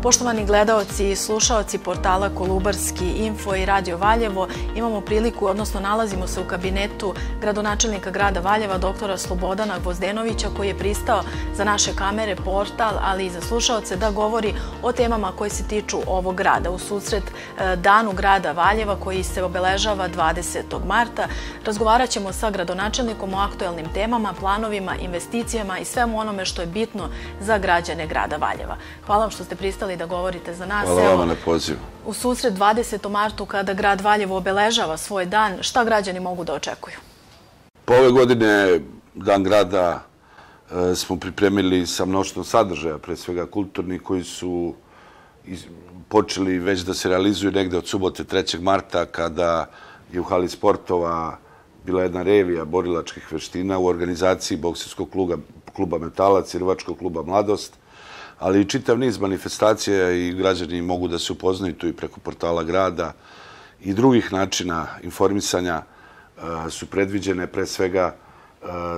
Poštovani gledaoci i slušaoci portala Kolubarski info i Radio Valjevo, imamo priliku, odnosno nalazimo se u kabinetu gradonačelnika grada Valjeva, doktora Slobodana Gvozdenovića, koji je pristao za naše kamere, portal, ali i za slušaoce da govori o temama koje se tiču ovog grada. U susret Danu grada Valjeva, koji se obeležava 20. marta, razgovarat ćemo sa gradonačelnikom o aktuelnim temama, planovima, investicijama i svemu onome što je bitno za građane grada Valjeva. Hvala vam što ste pristali da govorite za nas. Hvala vam na pozivu. U susret 20. martu, kada grad Valjevo obeležava svoj dan, šta građani mogu da očekuju? Pa ove godine, Dan grada, smo pripremili sa mnoštvom sadržaja, pre svega kulturni, koji su počeli već da se realizuju negde od subote 3. marta, kada je u hali sportova bila jedna revija borilačkih veština u organizaciji bokserskog kluba Metalac i rvačkog kluba Mladost, ali i čitav niz manifestacija i građani mogu da se upoznaju tu i preko portala grada i drugih načina informisanja su predviđene. Pre svega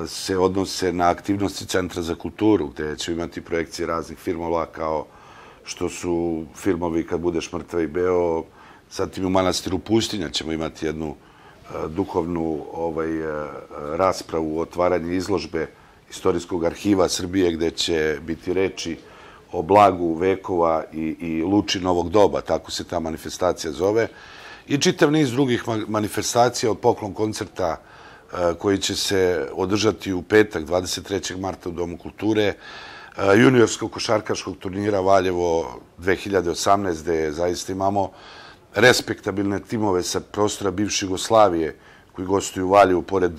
se odnose na aktivnosti Centra za kulturu, gde će imati projekcije raznih filmova kao što su filmovi Kad budeš mrtva i beo, zatim u Manastiru Pustinja ćemo imati jednu duhovnu raspravu o otvaranju izložbe Istorijskog arhiva Srbije, gde će biti reči o blagu vekova i luči novog doba, tako se ta manifestacija zove, i čitav niz drugih manifestacija od poklon koncerta koji će se održati u petak 23. marta u Domu kulture, juniorskog košarkaškog turnira Valjevo 2018, gde zaista imamo respektabilne timove sa prostora bivše Jugoslavije koji gostuju u Valjevu pored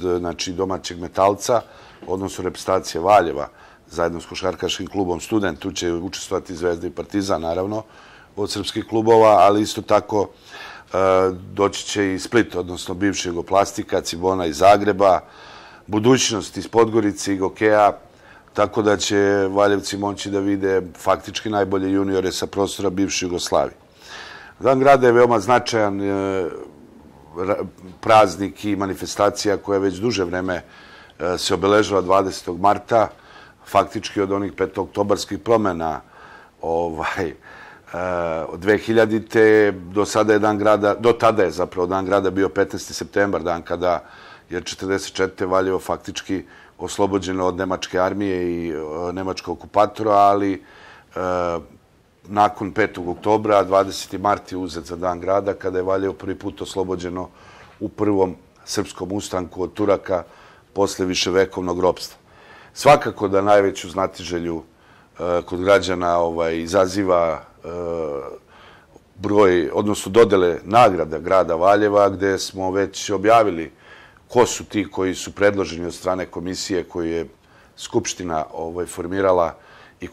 domaćeg Metalca, odnosno reprezentacije Valjeva, zajedno s košarkaškim klubom Student. Tu će učestvovati Zvezda i Partizan, naravno, od srpskih klubova, ali isto tako doći će i Split, odnosno bivša Jugoplastika, Cibona iz Zagreba, Budućnost iz Podgorice i Gokeja, tako da će Valjevci moći da vide faktički najbolje juniore sa prostora bivše Jugoslavije. Dan grada je veoma značajan praznik i manifestacija koja već duže vreme se obeležava 20. marta, faktički od onih petooktobarskih promena od 2000-te do sada je Dan grada, do tada je zapravo Dan grada bio 15. septembar, dan kada je 44. Valjevo faktički oslobođeno od nemačke armije i nemačkog okupatora, ali nakon 5. oktobra, 20. mart je uzet za Dan grada, kada je Valjevo prvi put oslobođeno u prvom srpskom ustanku od Turaka posle viševekovnog ropstva. Svakako da najveću znatiželju kod građana izaziva broj, odnosno dodele nagrada grada Valjeva, gde smo već objavili ko su ti koji su predloženi od strane komisije koju je Skupština formirala i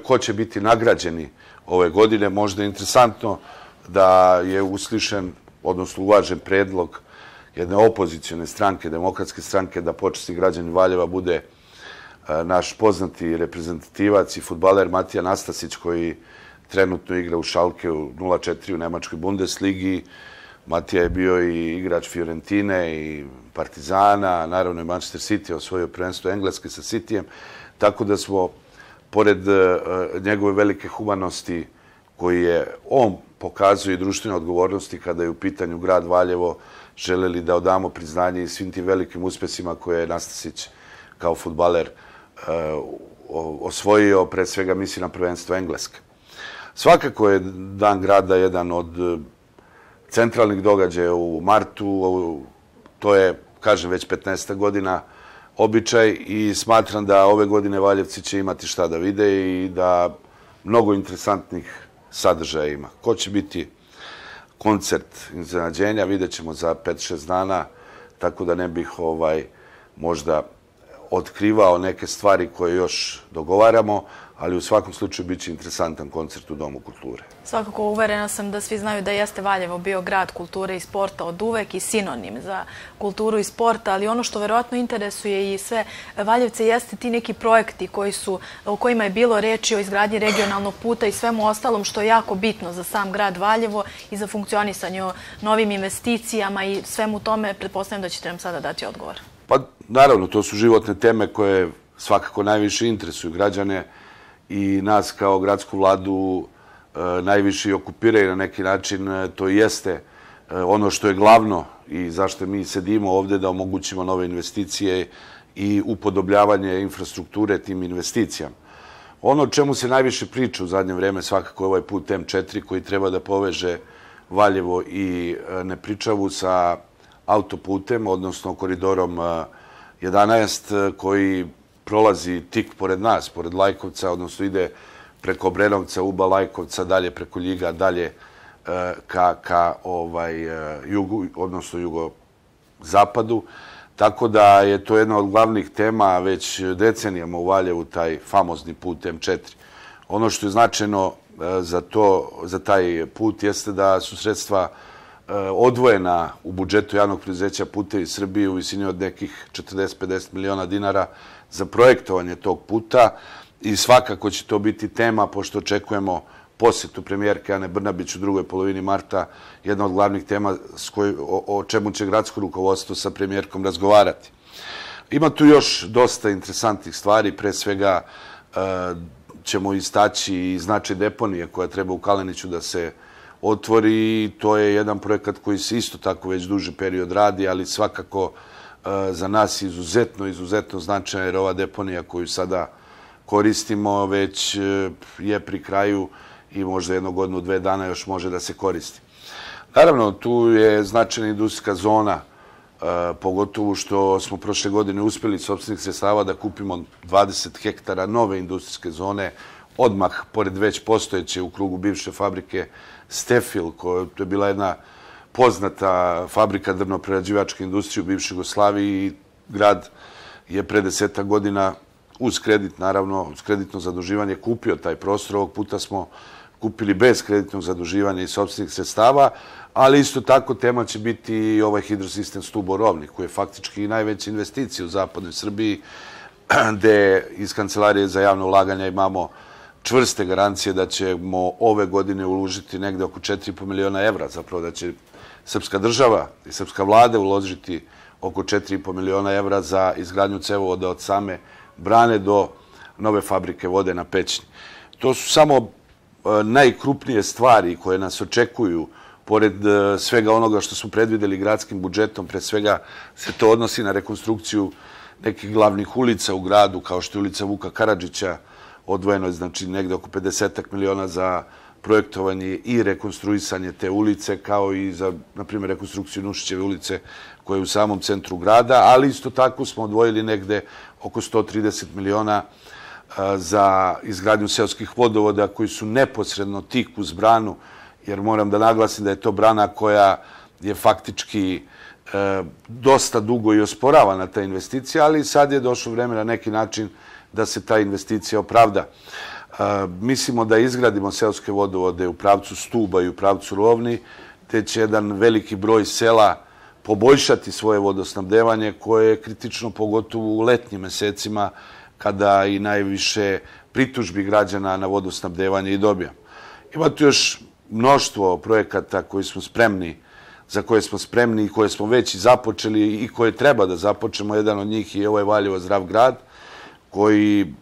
ko će biti nagrađeni ove godine. Možda je interesantno da je uslišen, odnosno uvažen predlog jedne opozicione stranke, Demokratske stranke, da počasni građanin Valjeva bude naš poznati reprezentativac i fudbaler Matija Nastasić, koji trenutno igra u Schalke u 0-4 u Nemačkoj Bundesligi. Matija je bio i igrač Fiorentine i Partizana, naravno i Manchester City, osvojio prvenstvo Engleske sa Cityjem, tako da smo, pored njegove velike humanosti koji je on pokazuje i društvene odgovornosti kada je u pitanju grad Valjevo, želeli da odamo priznanje i svim tim velikim uspesima koje je Nastasić kao fudbaler osvojio, pre svega misli na prvenstvo Engleske. Svakako je Dan grada jedan od centralnih događaja u martu, to je, kažem, već 15. godina običaj i smatram da ove godine Valjevci će imati šta da vide i da mnogo interesantnih sadržaja ima. Ko će biti koncert iznenađenja, vidjet ćemo za 5-6 dana, tako da ne bih možda otkrivao neke stvari koje još dogovaramo, ali u svakom slučaju bit će interesantan koncert u Domu kulture. Svakako uverena sam da svi znaju da jeste Valjevo bio grad kulture i sporta od uvek i sinonim za kulturu i sporta, ali ono što verovatno interesuje i sve Valjevce jeste ti neki projekti o kojima je bilo reči o izgradnji regionalnog puta i svemu ostalom što je jako bitno za sam grad Valjevo i za funkcionisanje o novim investicijama i svemu tome. Pretpostavljam da ćete nam sada dati odgovor. Pa naravno, to su životne teme koje svakako najviše interesuju građane i nas kao gradsku vladu najviše i okupiraju na neki način, to jeste ono što je glavno i zašto mi sedimo ovde, da omogućimo nove investicije i upodobljavanje infrastrukture tim investicijama. Ono o čemu se najviše priča u zadnje vreme svakako je ovaj put M4 koji treba da poveže Valjevo i Nepričavu sa autoputem, odnosno koridorom 11 koji prolazi tik pored nas, pored Lajkovca, odnosno ide preko Obrenovca, Uba, Lajkovca, dalje preko Ljiga, dalje ka jugu, odnosno jugozapadu. Tako da je to jedna od glavnih tema već decenijama u Valjevu, taj famozni put M4. Ono što je značajno za taj put jeste da su sredstva odvojena u budžetu javnog preduzeća Putevi Srbije u visini od nekih 40-50 miliona dinara za projektovanje tog puta i svakako će to biti tema, pošto očekujemo posjetu premijerke Ane Brnabić u drugoj polovini marta, jedna od glavnih tema o čemu će gradsko rukovodstvo sa premijerkom razgovarati. Ima tu još dosta interesantnih stvari, pre svega ćemo istaći i značaj deponije koja treba u Kaleniću da se otvori i to je jedan projekat koji se isto tako već duži period radi, ali svakako za nas izuzetno značajna jer ova deponija koju sada koristimo već je pri kraju i možda jedno godinu, 2 dana još može da se koristi. Naravno, tu je značajna industrijska zona, pogotovo što smo prošle godine uspjeli sopstvenih sredstava da kupimo 20 hektara nove industrijske zone, odmah pored već postojeće u krugu bivše fabrike Stefil, koja je bila jedna poznata fabrika drvno-prerađivačke industrije u bivšoj Jugoslaviji i grad je pre 10 godina uz kredit, naravno, uz kreditno zaduživanje kupio taj prostor. Ovog puta smo kupili bez kreditnog zaduživanja i sopstvenih sredstava, ali isto tako tema će biti i ovaj hidrosistem Stuborovnik, koji je faktički i najveća investicija u zapadnoj Srbiji, gde iz Kancelarije za javno ulaganja imamo čvrste garancije da ćemo ove godine uložiti negde oko 4,5 miliona evra, zapravo da će srpska država i srpska vlada uložiti oko 4,5 miliona evra za izgradnju cevovoda od same Brane do nove fabrike vode na Pećni. To su samo najkrupnije stvari koje nas očekuju, pored svega onoga što smo predvideli gradskim budžetom. Pre svega se to odnosi na rekonstrukciju nekih glavnih ulica u gradu, kao što je ulica Vuka Karadžića, odvojeno je znači negde oko 50 miliona za projektovanje i rekonstruisanje te ulice, kao i za, na primjer, rekonstrukciju Nušićeve ulice koja je u samom centru grada, ali isto tako smo odvojili negde oko 130 miliona za izgradnju seoskih vodovoda koji su neposredno tik uz branu, jer moram da naglasim da je to brana koja je faktički dosta dugo i osporavana ta investicija, ali sad je došlo vreme na neki način da se ta investicija opravda. Mislimo da izgradimo seoske vodovode u pravcu Stuba i u pravcu Rovni, te će jedan veliki broj sela poboljšati svoje vodosnabdevanje koje je kritično pogotovo u letnjim mesecima kada i najviše pritužbi građana na vodosnabdevanje i dobija. Ima tu još mnoštvo projekata za koje smo spremni i koje smo već i započeli i koje treba da započnemo. Jedan od njih je ovaj Valjevo zdrav grad koji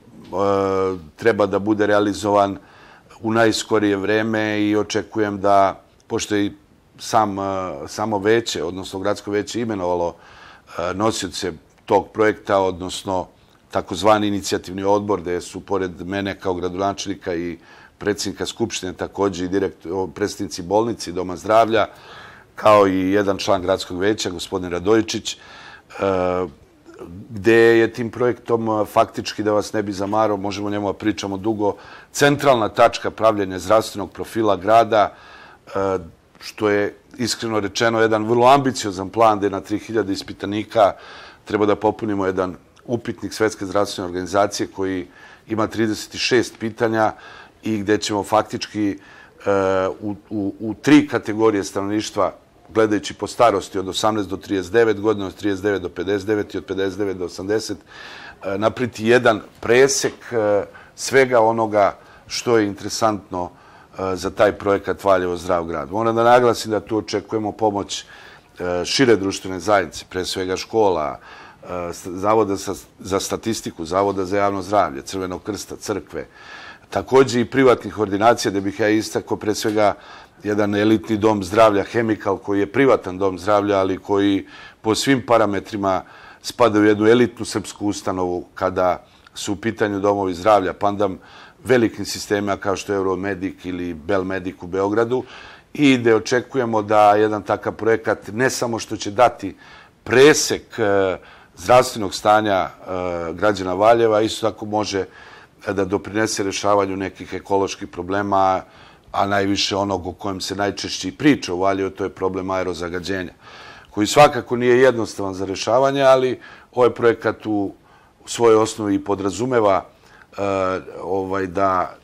treba da bude realizovan u najskorije vreme i očekujem da, pošto je samo veće, odnosno gradsko veće imenovalo nosioce tog projekta, odnosno takozvani inicijativni odbor, gde su pored mene kao gradonačelnika i predsjednika Skupštine također i predstavnici bolnici i Doma zdravlja, kao i jedan član gradskog veća, gospodin Radojičić, gde je tim projektom faktički, da vas ne bi zamarao, možemo o njemu da pričamo dugo, centralna tačka pravljenja zdravstvenog profila grada, što je iskreno rečeno jedan vrlo ambiciozan plan gde na 3000 ispitanika treba da popunimo jedan upitnik Svetske zdravstvene organizacije koji ima 36 pitanja i gde ćemo faktički u 3 kategorije stanovništva, gledajući po starosti od 18 do 39 godina, od 39 do 59 i od 59 do 80, napriti jedan presek svega onoga što je interesantno za taj projekat Valjevo zdrav grad. Moram da naglasim da tu očekujemo pomoć šire društvene zajednice, pre svega škola, Zavoda za statistiku, Zavoda za javno zdravlje, Crvenog krsta, crkve. također i privatnih ordinacija, da bih ja istakao pre svega jedan elitni dom zdravlja Hemikal, koji je privatan dom zdravlja, ali koji po svim parametrima spada u jednu elitnu srpsku ustanovu kada su u pitanju domovi zdravlja, pandam velikim sistemima kao što je Euromedik ili Belmedik u Beogradu, i da očekujemo da jedan takav projekat ne samo što će dati presek zdravstvenog stanja građana Valjeva, isto tako može da doprinese rešavanju nekih ekoloških problema, a najviše onog o kojem se najčešće i priča u Valjevu, to je problem aerozagađenja, koji svakako nije jednostavan za rešavanje, ali ovaj projekat u svojoj osnovi podrazumeva da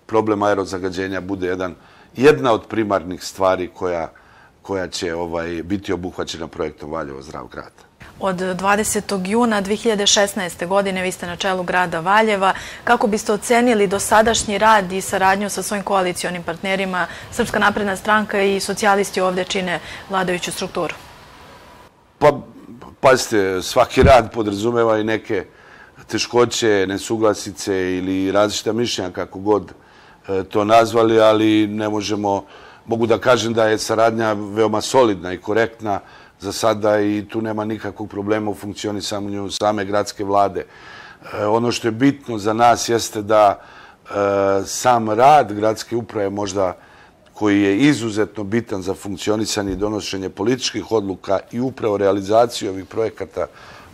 problem aerozagađenja bude jedna od primarnih stvari koja će biti obuhvaćena projektom Valjevo zdrav grad. Od 20. juna 2016. godine vi ste na čelu grada Valjeva. Kako biste ocenili dosadašnji rad i saradnju sa svojim koalicionim partnerima? Srpska napredna stranka i socijalisti ovdje čine vladajuću strukturu. Pa, pazite, svaki rad podrazumeva i neke teškoće, nesuglasice ili različita mišljenja, kako god to nazvali, ali ne mogu da kažem da je saradnja veoma solidna i korektna za sada i tu nema nikakvog problema u funkcionisanju same gradske vlade. Ono što je bitno za nas jeste da sam rad gradske uprave, možda koji je izuzetno bitan za funkcionisanje i donošenje političkih odluka i upravo realizaciju ovih projekata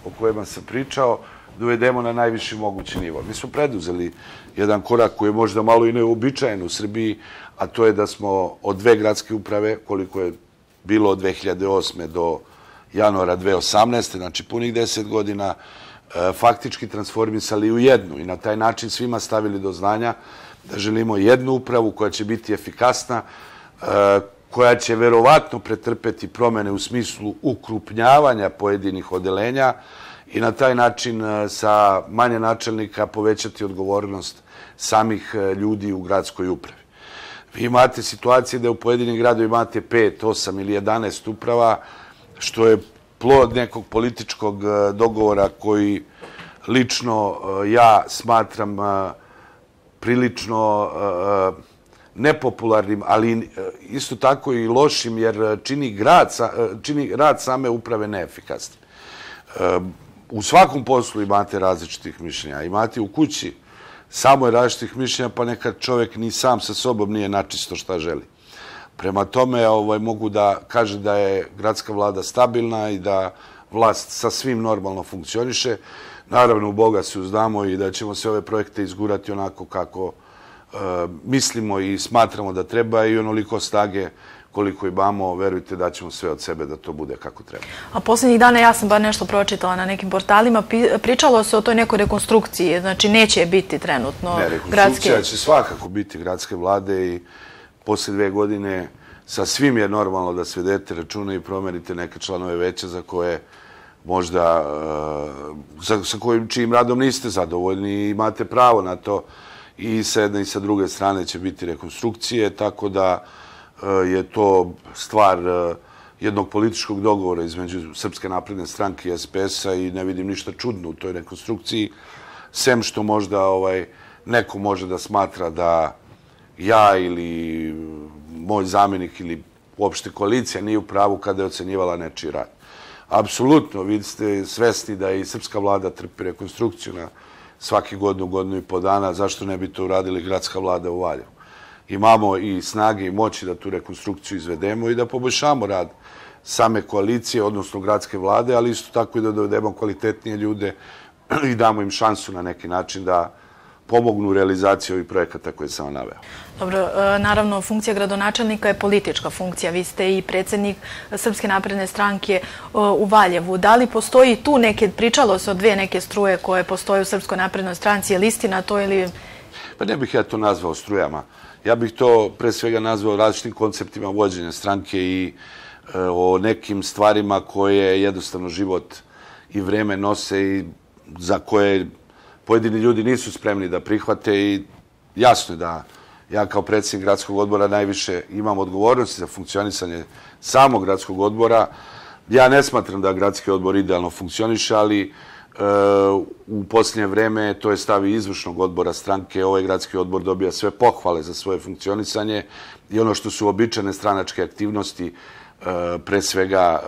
o kojima sam pričao, dovedemo na najviši mogući nivo. Mi smo preduzeli jedan korak koji je možda malo i neobičajen u Srbiji, a to je da smo od dve gradske uprave, koliko je bilo od 2008. do januara 2018. znači punih 10 godina, faktički transformisali u jednu i na taj način svima stavili do znanja da želimo jednu upravu koja će biti efikasna, koja će verovatno pretrpeti promene u smislu ukrupnjavanja pojedinih odeljenja i na taj način sa manje načelnika povećati odgovornost samih ljudi u gradskoj upravi. Vi imate situacije da u pojedinim gradovima imate 5, 8 ili 11 uprava, što je plod nekog političkog dogovora koji lično ja smatram prilično nepopularnim, ali isto tako i lošim, jer čini rad same uprave neefikasnim. U svakom poslu imate različitih mišljenja. Imate u kući samo je različitih mišljenja, pa nekad čovjek ni sam sa sobom nije načisto šta želi. Prema tome mogu da kažem da je gradska vlada stabilna i da vlast sa svim normalno funkcioniše. Naravno, u Boga se uzdamo i da ćemo se ove projekte izgurati onako kako mislimo i smatramo da treba i onoliko snage koliko imamo, verujte da ćemo sve od sebe da to bude kako treba. A posljednjih dana ja sam bar nešto pročitala na nekim portalima, pričalo se o toj nekoj rekonstrukciji, znači neće biti trenutno gradske... Ne, rekonstrukcija će svakako biti gradske vlade i poslije 2 godine sa svim je normalno da svedete računa i promenite neke članove veća za koje možda, sa čijim radom niste zadovoljni i imate pravo na to i sa jedne i sa druge strane će biti rekonstrukcije, tako da je to stvar jednog političkog dogovora između Srpske napredne stranke i SPS-a i ne vidim ništa čudno u toj rekonstrukciji, sem što možda neko može da smatra da ja ili moj zamjenik ili uopšte koalicija nije u pravu kada je ocenjivala nečiji rad. Apsolutno, vi ste svesni da i srpska vlada trpi rekonstrukciju na svaki godinu i po dana, zašto ne bi to uradili gradska vlada u Valjevu. Imamo i snage i moći da tu rekonstrukciju izvedemo i da poboljšamo rad same koalicije, odnosno gradske vlade, ali isto tako i da dovedemo kvalitetnije ljude i damo im šansu na neki način da pomognu u realizaciji ovih projekata koje sam vam naveo. Dobro, naravno, funkcija gradonačelnika je politička funkcija. Vi ste i predsjednik Srpske napredne stranke u Valjevu. Da li postoji tu pričalo se o 2 neke struje koje postoje u Srpskoj naprednoj stranci, je li istina to ili... Pa ne bih ja to nazvao strujama. Ja bih to pre svega nazvao različitim konceptima vođenja stranke i o nekim stvarima koje jednostavno život i vreme nose i za koje pojedini ljudi nisu spremni da prihvate i jasno je da ja kao predsjednik gradskog odbora najviše imam odgovornosti za funkcionisanje samog gradskog odbora. Ja ne smatram da gradski odbor idealno funkcioniše, ali U posljednje vreme to je stav izvršnog odbora stranke. Ovaj gradski odbor dobija sve pohvale za svoje funkcionisanje i ono što su običajne stranačke aktivnosti, pre svega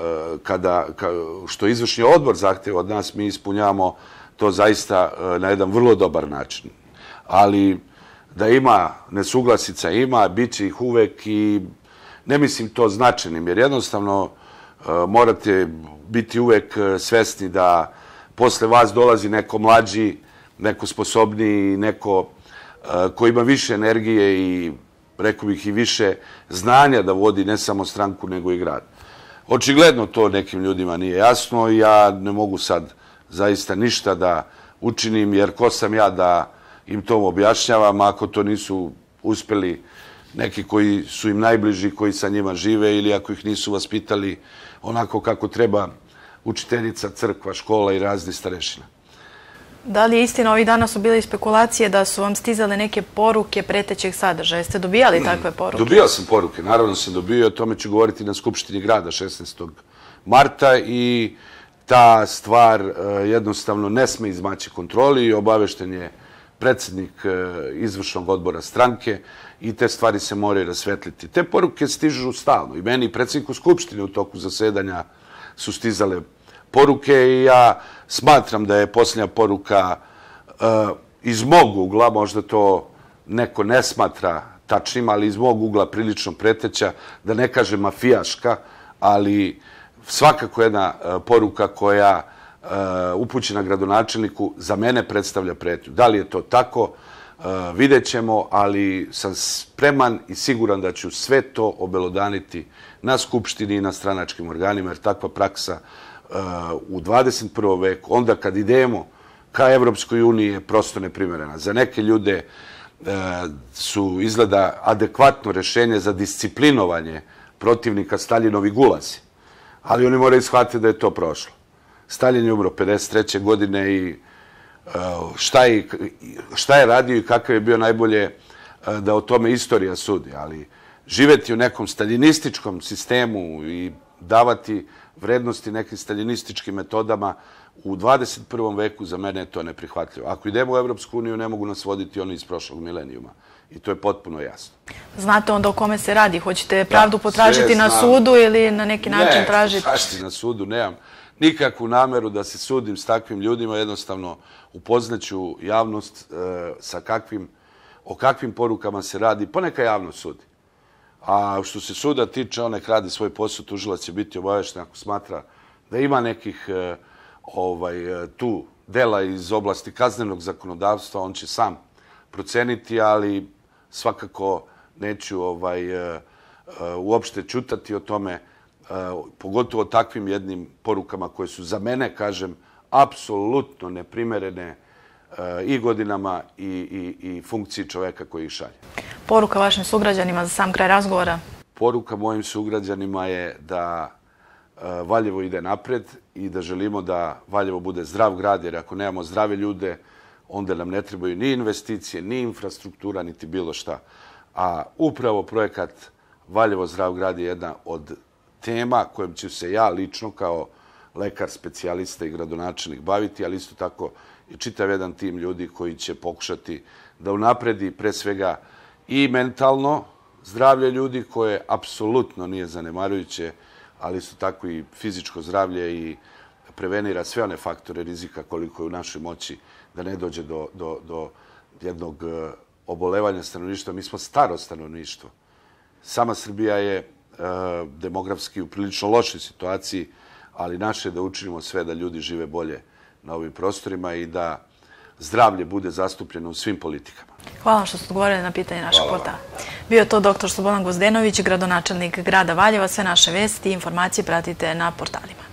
što izvršni odbor zahteva od nas, mi ispunjavamo to zaista na jedan vrlo dobar način. Ali da ima nesuglasica, ima, bit će ih uvek i ne mislim to značajnim, jer jednostavno morate biti uvek svesni da posle vas dolazi neko mlađi, neko sposobniji, neko ko ima više energije i, rekao bih, i više znanja da vodi ne samo stranku, nego i grad. Očigledno to nekim ljudima nije jasno i ja ne mogu sad zaista ništa da učinim, jer ko sam ja da im to objašnjavam ako to nisu uspeli neki koji su im najbliži, koji sa njima žive, ili ako ih nisu vaspitali onako kako treba učiteljica, crkva, škola i razni starešina. Da li je istina, ovih dana su bile spekulacije da su vam stizale neke poruke pretećeg sadržaja? Jeste dobijali takve poruke? Dobijao sam poruke, naravno sam dobio, o tome ću govoriti na Skupštini grada 16. marta i ta stvar jednostavno ne sme izmaći kontroli i obavešten je predsjednik izvršnog odbora stranke i te stvari se moraju rasvetliti. Te poruke stižu stalno i meni i predsjedniku Skupštine u toku zasedanja su stizale poruke i ja smatram da je posljednja poruka iz mog ugla, možda to neko ne smatra tačnim, ali iz mog ugla prilično preteća, da ne kažem mafijaška, ali svakako jedna poruka koja upućena gradonačelniku za mene predstavlja pretnju. Da li je to tako, vidjet ćemo, ali sam spreman i siguran da ću sve to obelodaniti na Skupštini i na stranačkim organima, jer takva praksa u 21. veku, onda kad idemo ka Evropskoj uniji, je prosto neprimerena. Za neke ljude su izgleda adekvatno rešenje za disciplinovanje protivnika Staljinovi gulazi, ali oni moraju shvatiti da je to prošlo. Stalin je umro 53. godine i šta je radio i kakav je bio, najbolje da o tome istorija sudi, ali živeti u nekom staljinističkom sistemu i davati vrednosti nekim staljinističkim metodama u 21. veku, za mene je to neprihvatljivo. Ako idemo u Evropsku uniju, ne mogu nas voditi oni iz prošlog milenijuma. I to je potpuno jasno. Znate onda o kome se radi? Hoćete pravdu potražiti na sudu ili na neki način tražiti? Ne, na sudu nemam nikakvu nameru da se sudim s takvim ljudima. Jednostavno upoznaću javnost o kakvim porukama se radi. Poneka javnost sudi. A što se suda tiče, on nek radi svoj posao, tužilac će biti obavešten ako smatra da ima nekih tu dela iz oblasti kaznenog zakonodavstva, on će sam proceniti, ali svakako neću uopšte ćutati o tome, pogotovo takvim jednim porukama koje su za mene, kažem, apsolutno neprimerene i godinama i funkciji čoveka koji ih šalje. Poruka vašim sugrađanima za sam kraj razgovora? Poruka mojim sugrađanima je da Valjevo ide napred i da želimo da Valjevo bude zdrav grad, jer ako nemamo zdrave ljude, onda nam ne trebaju ni investicije, ni infrastruktura, niti bilo šta. A upravo projekat Valjevo zdrav grad je jedna od tema kojom ću se ja lično kao lekar, specijalista i gradonačelnik baviti, ali isto tako i čitav jedan tim ljudi koji će pokušati da unapredi pre svega i mentalno zdravlje ljudi, koje apsolutno nije zanemarujuće, ali isto tako i fizičko zdravlje i prevenira sve one faktore rizika koliko je u našoj moći da ne dođe do jednog obolevanja stanovništva. Mi smo staro stanovništvo. Sama Srbija je demografski u prilično lošoj situaciji, ali naše je da učinimo sve da ljudi žive bolje na ovim prostorima i da zdravlje bude zastupljeno u svim politikama. Hvala što ste odgovorili na pitanje našeg portala. Bio je to dr. Slobodan Gvozdenović, gradonačelnik grada Valjeva. Sve naše vesti i informacije pratite na portalima.